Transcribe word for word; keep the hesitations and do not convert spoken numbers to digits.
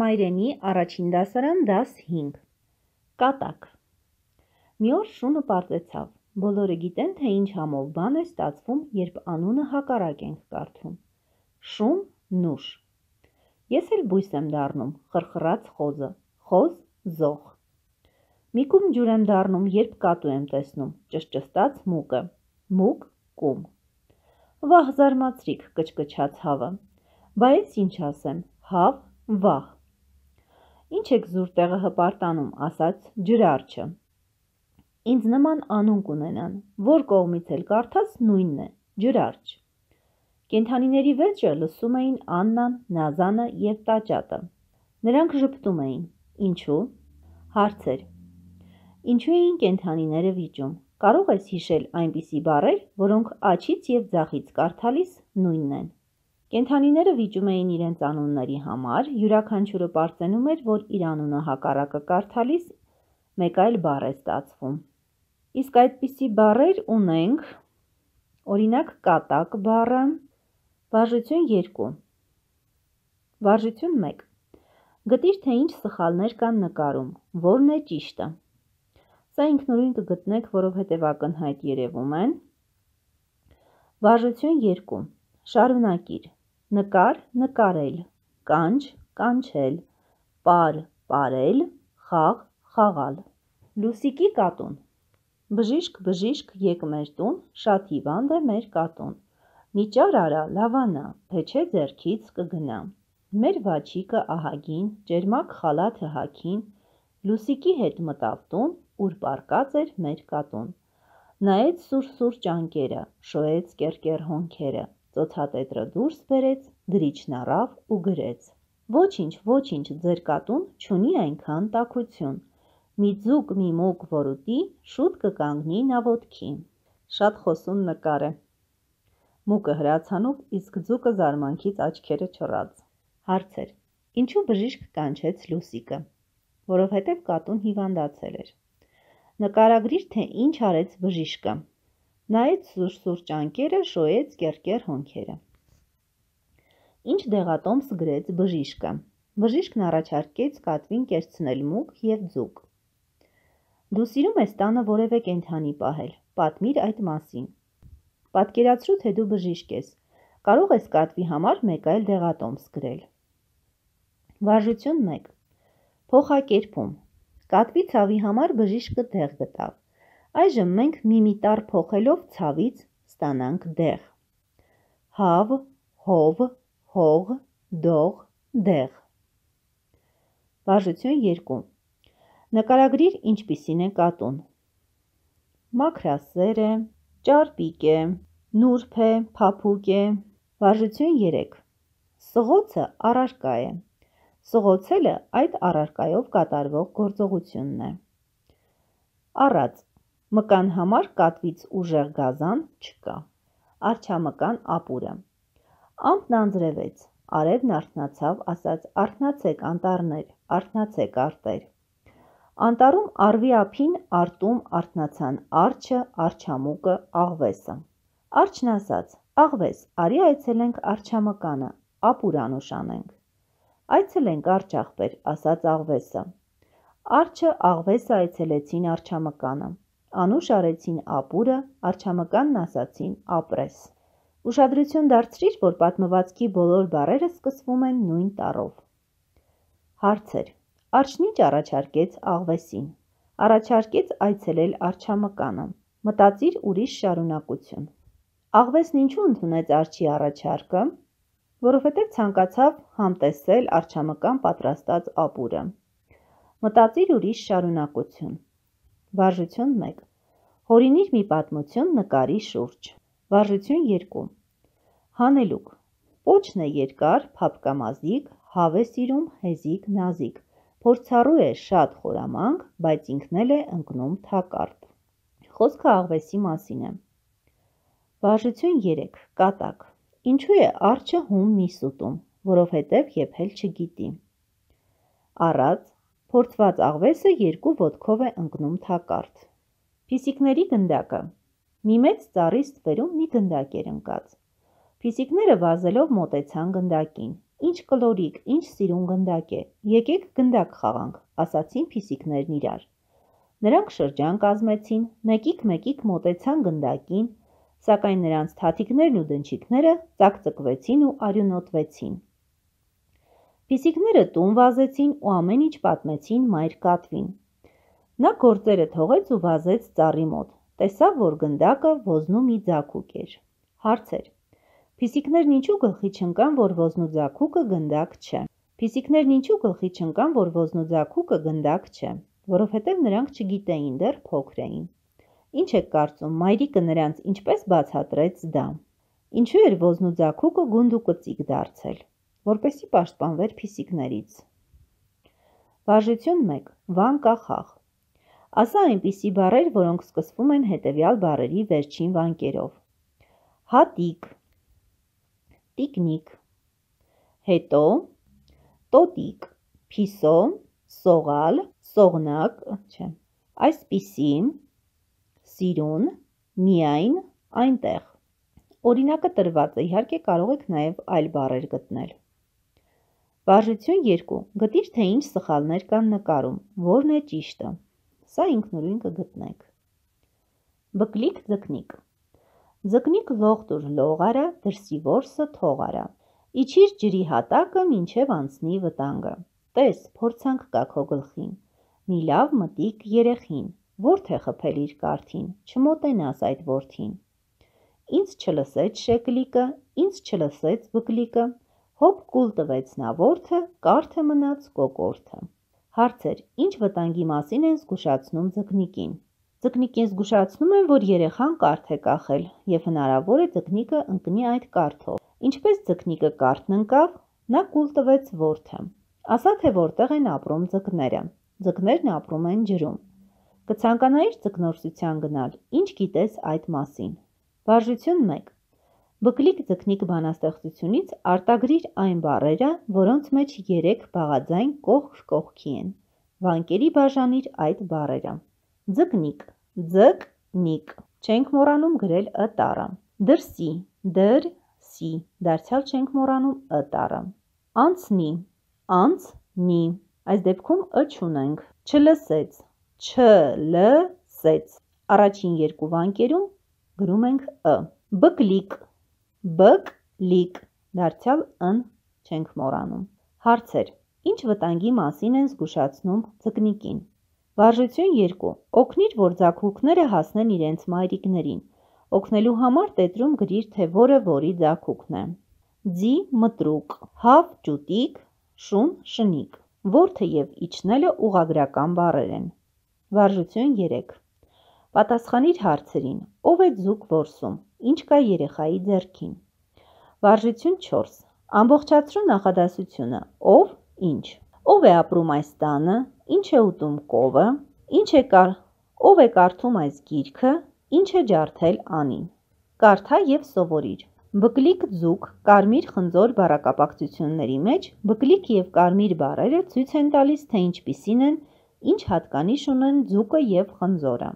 Մայրենի առաջին դասարան դաս հինգ Կատակ Մի օր շունը պարզեցավ. բոլորը գիտեն, թե ինչ համով բան է ստացվում, երբ անունը հակառակ ենք կարդում. Շուն, նուշ։ Ես էլ բույս եմ դառնում, խրխռաց խոզը, խոզ, զող։ Մի կում ջուր եմ դառնում, երբ կատու եմ տեսնում, ճշճստաց մուկը, մուկ, կում։ Վահ զարմացրիք, կչկչաց հավը, բա ես ինչ ասեմ, հավ, վահ։ Ինչ եք զուր տեղը հպարտանում, ասաց ջրարջը։ Ինձ նման անուն կունենան, որ կողմից էլ կարդաս նույնն է, ջրարջ։ Կենդանիների վեճը լսում էին Աննան, Նազանը և Տաճատը։ Նրանք ժպտում էին, ինչու՞։ Հարցեր. Ինչու էին կենդանիները վիճում, կարող ես հիշել այնպիսի բառեր, որոնք աջից և ձախից կարդալիս նույնն են։ Կենդանիները վիճում էին իրենց անունների համար, յուրաքանչյուրը պարծենում էր, որ իր անունը հակառակը կարդալիս մեկ այլ բառ է ստացվում։ Իսկ այդպիսի բառեր ունենք, օրինակ կատակ բառը, վարժություն երկու, վարժություն մեկ, գտիր, թե ինչ սխալներ կան նկարում, որն է ճիշտը։ Սա ինքնուրույն կգտնեք, որովհետև ակնհայտ երևում են։ Վարժություն երկու, շարունակիր, նկար, նկարել, կանչ, կանչել, պար, պարել, խաղ, խաղալ։ Լուսիկի կատուն։ Բժիշկ, բժիշկ, եկ մեր տուն, շատ հիվանդ է մեր կատուն։ Մի ճար արա, լավանա, թե չէ ձեռքից կգնա։ Մեր վաչիկը ահագին, ճերմակ խալաթը հագին, Լուսիկի հետ մտավ տուն, ուր պառկած էր մեր կատուն։ Նայեց սուր-սուր ճանկերը, շոյեց կեռ-կեռ հոնքերը, ծոցատետրը դուրս բերեց, գրիչն առավ ու գրեց. Ոչինչ, ոչինչ, ձեր կատուն չունի այնքան տաքություն։ Մի ձուկ, մի մուկ որ ուտի, շուտ կկանգնի նա ոտքի։ Շատ խոսուն նկար է։ Մուկը հրացանով, իսկ ձուկը զարմանքից աչքերը չռած։ Հարցեր. Ինչու բժիշկ կանչեց Լուսիկը։ Որովհետև կատուն հիվանդացել էր։ Նկարագրիր, թե ինչ արեց բժիշկը։ Նայեց սուր-սուր ճանկերը, շոյեց կեռ-կեռ հոնքերը։ Ինչ դեղատոմս գրեց բժիշկը։ Բժիշկն առաջարկեց կատվին կերցնել մուկ և ձուկ։ Դու սիրում ես տանը որևէ կենդանի պահել, պատմիր այդ մասին։ Պատկերացրու, թե դու բժիշկ ես, կարող ես կատվի համար մեկ այլ դեղատոմս գրել։ Վարժություն մեկ. Փոխակերպում. Կատվի ցավի համար բժիշկը դեղ գտավ։ Այժմ մենք մի մի տառ փոխելով ցավից ստանանք դեղ։ Հավ, հով, հող, դող, դեղ։ Վարժություն երկու. Նկարագրիր ինչպիսին է կատուն։ Մաքրասեր է, ճարպիկ է, նուրբ է, փափուկ է։ Վարժություն երեք. Սղոցը առարկա է։ Սղոցելը այդ առարկայով կատարվող գործողությունն է։ Առած. Մկան համար կատվից ուժեղ գազան չկա։ Արջամկան ապուրը. Ամպն անձրևեց, արևն արթնացավ, ասաց արթնացեք անտառներ, արթնացեք արտեր։ Անտառում առվի ափին արտում արթնացան արջը, արջամուկը, աղվեսը։ Արջն ասաց. աղվես, արի այցելենք արջամկանը, ապուր անուշ անենք։ Այցելենք արջ աղբեր, ասաց աղվեսը։ Արջը, աղվեսը այցելեցին արջամկանը։ Անուշ արեցին ապուրը, արջամկանն ասացին ապրես։ Ուշադրություն դարձրիր, որ պատմվածքի բոլոր բառերը սկսվում են նույն տառով։ Հարցեր. Արջն ինչ առաջարկեց աղվեսին։ Առաջարկեց այցելել արջամկանը։ Մտածիր ուրիշ շարունակություն։ Աղվեսն ինչու ընդունեց արջի առաջարկը։ Որովհետև ցանկացավ համտեսել արջամկան պատրաստած ապուրը։ Մտածիր ուրիշ շարունակություն։ Վարժություն մեկ. Հորինիր մի պատմություն նկարի շուրջ։ Վարժություն երկու. Հանելուկ. Պոչն է երկար, փափկամազիկ, հավ է սիրում, հեզիկ, նազիկ, փորձառու է շատ խորամանկ, բայց ինքն էլ է ընկնում թակարդ։ Խոսքը աղվեսի մասին է։ Վարժություն երեք. Կատակ. Ինչու է արջը հում միս ուտում, որովհետև եփել չգիտի։ Առած. Փորձված աղվեսը երկու ոտքով է ընկնում թակարդ։ Փիսիկների գնդակը. Մի մեծ ծառի ստվերում մի գնդակ էր ընկած։ Փիսիկները վազելով մոտեցան գնդակին։ ինչ կլորիկ, ինչ սիրուն գնդակ է, եկեք գնդակ խաղանք, ասացին փիսիկներն իրար։ Նրանք շրջան կազմեցին, մեկիկ-մեկիկ մոտեցան գնդակին, սակայն նրանց թաթիկներն ու դնչիկները ծակծկվեցին ու արյունոտվեցին։ Փիսիկները տուն վազեցին ու ամեն ինչ պատմեցին մայր կատվին։ Նա գործերը թողեց ու վազեց ծառի մոտ, տեսավ, որ գնդակը ոզնու մի ձագուկ էր։ Հարցեր. Փիսիկներն ինչու գլխի չընկան, որ ոզնու ձագուկը գնդակ չէ։ Փիսիկներն ինչու գլխի չընկան, որ ոզնու ձագուկը գնդակ չէ, որովհետև նրանք չգիտեին, դեռ փոքր էին։ Ինչ եք կարծում, մայրիկը նրանց ինչպես բացատրեց դա։ Ինչու էր ոզնու ձագուկը գունդ ու կծիկ դարձել, որպեսզի պաշտպանվեր փիսիկներից։ Վարժություն մեկ. Վան կախախ։ Ասա այնպիսի բառեր, որոնք սկսվում են հետևյալ բառերի վերջին վանկերով։ Հատիկ, տիկնիկ, հետո, տոտիկ, փիսո, սողալ, սողնակ, չէ, այսպիսի, սիրուն, միայն, այնտեղ։ Օրինակը տրված է, իհարկե կարող եք նաև այլ բառեր գտնել։ Վարժություն երկու. Գտիր, թե ինչ սխալներ կան նկարում, որն է ճիշտը։ Սա ինքնուրույն կգտնեք։ Բկլիկ ձկնիկ։ Ձկնիկ լողտուր լող արա, դրսի որսը թող արա։ Իջիր ջրի հատակը, մինչև անցնի վտանգը։ Տես, փորձանք կա քո գլխին։ Մի լավ մտիկ երեխին, ո՞րդ է խփել իր կարթին, չմոտենաս այդ որդին։ Ինձ չլսեց շեկլիկը, ինձ չլսեց բկլիկը, հոպ կուլ տվեց նա որդը, կարթը մնաց կոկորդը։ Հարցեր. Ինչ վտանգի մասին են զգուշացնում ձկնիկին։ Ձկնիկին զգուշացնում են, որ երեխան կարթ է կախել և հնարավոր է ձկնիկը ընկնի այդ կարթով։ Ինչպես ձկնիկը կարթն ընկավ, նա կուլ տվեց որդը։ Ասա, թե որտեղ են ապրում ձկները։ Ձկներն ապրում են ջրում։ Կցանկանայիր ձկնորսության գնալ, ինչ գիտես այդ մասին։ Վարժություն մեկ. Բկլիկ ձկնիկ բանաստեղծությունից արտագրիր այն բառերը, որոնց մեջ երեք բաղաձայն կողք կողքի են։ Վանկերի բաժանիր այդ բառերը։ Ձկնիկ, ձկ-նիկ, չենք մոռանում գրել ը տառը։ Դրսի, դր-սի, դարձյալ չենք մոռանում ը տառը։ Անցնի, անց-նի, այս դեպքում ը չունենք։ Չլսեց, չ-լ-սեց, առաջին երկու վանկերում գրում ենք ը։ Բկլիկ, բկ-լիկ, դարձյալ ըն չենք մոռանում։ Հարցեր. Ինչ վտանգի մասին են զգուշացնում ձկնիկին։ Վարժություն երկու. Օգնիր, որ ձագուկները հասնեն իրենց մայրիկներին։ Օգնելու համար տետրում գրիր, թե որը որի ձագուկն է։ Ձի մտրուկ, հավ ճուտիկ, շուն շնիկ։ Որդը և իջնելը ուղղագրական բառեր են։ Վարժություն երեք. Պատասխանիր հարցերին. ով է ձուկ որսում, ինչ կա երեխայի ձեռքին։ Վարժություն չորս. Ամբողջացրու նախադասությունը. ով, ինչ։ Ով է ապրում այս տանը, ինչ է ուտում կովը, ինչ է կար, ով է կարդում այս գիրքը, ինչ է ջարդել Անին։ Կարդա և սովորիր։ Բկլիկ ձուկ, կարմիր խնձոր բառակապակցությունների մեջ բկլիկ և կարմիր բառերը ցույց են տալիս, թե ինչպիսին են, ինչ հատկանիշ ունեն ձուկը և խնձորը։